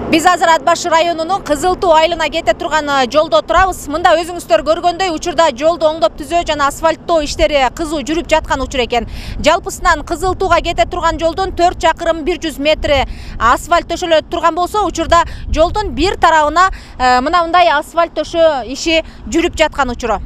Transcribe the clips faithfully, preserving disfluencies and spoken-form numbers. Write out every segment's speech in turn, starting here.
Биз азыр Ат Башы районунун Кызыл Туу айылына кете турган жолдо турабыз. Мында өзүңүздөр көргөндөй учурда жолду оңдоп түзөө жана асфальттоо иштери кызуу жүрүп жаткан учур экен. Жалпысынан Кызыл Тууга кете турган жолдун төрт чакырым бир жүз метри асфальт төшөлө турган болсо, учурда жолдун бир тарабына мына мындай асфальт төшөө иши жүрүп жаткан учуру.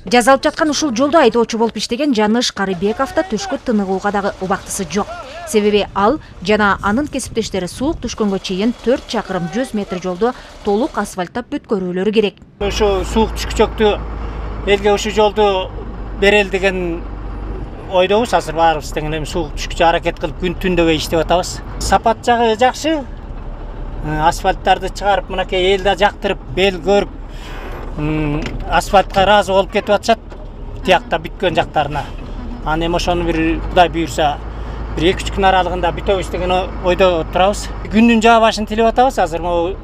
Жазалып жаткан ушул жолдо айдоочу болуп иштеген Жаныш Карыбеков да төшкө тыныгууга дагы убактысы жок. Себеби ал жана анын кесиптештери суук түшкөнгө чейин төрт чакырым жүз метр жолду толук асфальттап бүткөрүүлөрү керек. Ошо суук түшкүчөктү элге ушул жолду берели деген ойдобуз. Азыр баарыбыз тең эле суук түшкүчө аракет кылып күн түндөгөй иштеп атабыз. Сапат жагы жакшы. Асфальттарды чыгарып, мынакей эл да жактырып, бел көрүп, асфальтка ыраазы болуп кетип атышат. Тиякта бүткөн жактарына. Аны эми ошону бир Кудай буйрса бир эки үч күн аралыгында бүтөбүз деген ойдо турабыз. Күндүн жаа башын тилеп атабыз. Азыр могу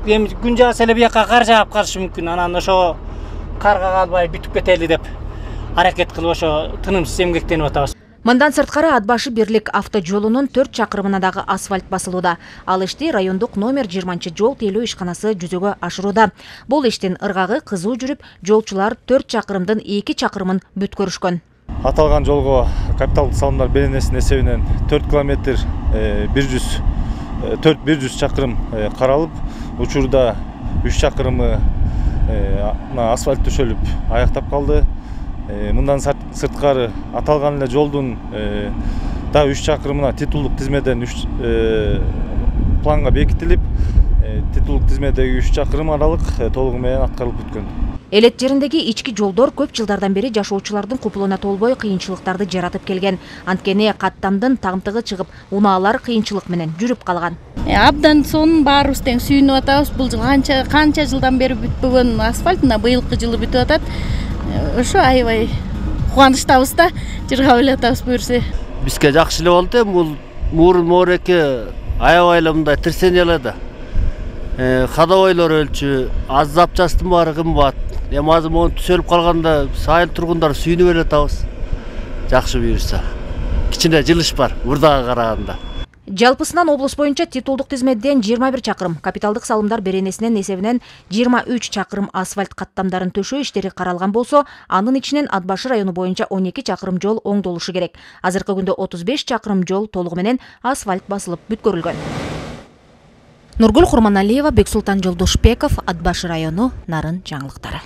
эми күн жааса эле бияка кар жаап калышы мүмкүн. Анан ошо карга калбай бүтүп кетели деп аракет кылып ошо тынымсыз эмгектенип атабыз. Мындан сырткары Ат Башы бирлик автожолунун төрт чакырымына дагы асфальт басылууда. Ал ишти райондук номер жыйырманчы жол тейлөө ишканасы жүзөгө ашырууда. Бул иштин ыргагы кызуу жүрүп, жолчулар төрт чакырымдын эки чакырымын бүткөрүшкөн. Аталган жолго капиталдык салымдар беренесинин эсебинен төрт километр бир жүз төрт бир жүз чакырым каралып, учурда үч чакырымы асфальт төшөлүп аяктап калды. Мындан сырткары аталган эле жолдун да үч чакырымына титулдук тизмеден планга бекитилип, титулдук тизмедеги үч чакырым аралык толугу менен аткарылып бүткөн. Элет жериндеги ички жолдор көп жылдардан бери жашоочулардын купулуна толбой кыйынчылыктарды жаратып келген. Анткени каттамдын тагымтыгы чыгып, унаалар кыйынчылык менен жүрүп калган. Абдан сонун баарыбыз тең сүйүнүп атабыз. Бул жыл канча канча жылдан бери бүтпөгөн асфальт мына быйылкы жылы бүтүп атат. Ошо аябай кубанычтабыз да, жыргап эле атабыз буюрса. Бизге жакшы эле болду. Бул мурун моореке аябай эле мындай тирсене эле да. Кадабойлор өлчү, аз запчастын баары кымбат. Эми азыр мону түзөлүп калганда айыл тургундар сүйүнүп эле атабыз. Жакшы буюрса. Кичине жылыш бар урдага караганда. Жалпысынан облус боюнча титулдук тизмеден жыйырма бир чакырым, капиталдык салымдар беренесинин эсебинен жыйырма үч чакырым асфальт каттамдарын төшөө иштери каралган болсо, анын ичинен Ат Башы району боюнча он эки чакырым жол оңдолушу керек. Азыркы күндө отуз беш чакырым жол толугу менен асфальт басылып бүткөрүлгөн. Нургүл Курманалиева, Бексултан Жолдошбеков, Ат Башы району, Нарын жаңылыктары.